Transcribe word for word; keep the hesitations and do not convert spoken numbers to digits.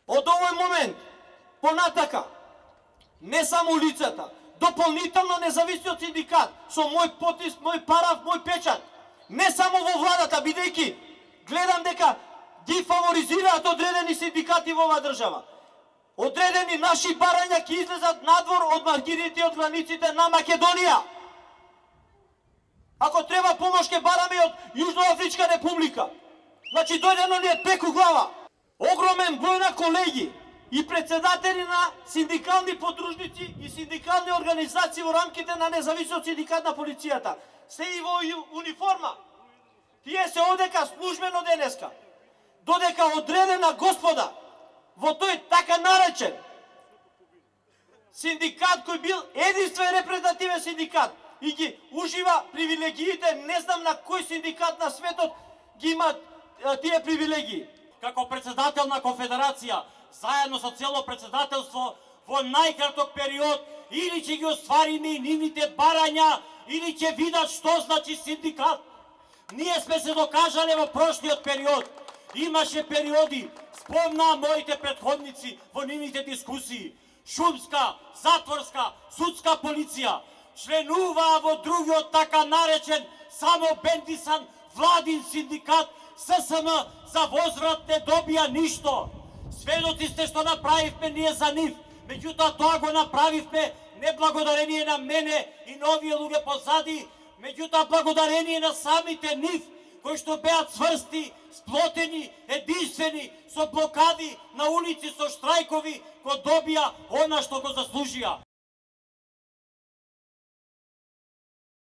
Од овој момент, понатака, не само лицата, дополнително независниот синдикат, со мој потпис, мој параф, мој печат, не само во владата, бидејќи гледам дека ги фаворизираат одредени синдикати во оваа држава. Одредени наши барања ќе излезат надвор од маргините и од границите на Македонија. Ако треба помош ќе бараме од Јужноафричка република. Значи дојдено ни е пеку глава. Огромен број на колеги и председатели на синдикални подружници и синдикални организации во рамките на независниот синдикат на полицијата се и во униформа. Тие се одека службено денеска. Додека одредена господа во тој така наречен синдикат кој бил единствен репрезентативен синдикат и ги ужива привилегиите, не знам на кој синдикат на светот ги имат тие привилегии. Како председател на Конфедерација, заедно со цело председателство, во најкраток период, или ќе ги оствариме и нивните барања, или ќе видат што значи синдикат. Ние сме се докажале во прошлиот период. Имаше периоди, спомна моите предходници во нивните дискусии, шумска, затворска, судска полиција, членуваа во другиот така наречен само бендисан владин синдикат, ССМ за возврат не добија ништо. Сведоци сте што направивме ние за нив, меѓутоа тоа го направивме не благодарение на мене и на овие луѓе позади, меѓутоа благодарение на самите нив, кои што беа цврсти, сплотени, единствени, со блокади на улици, со штрајкови, го добија она што го заслужија.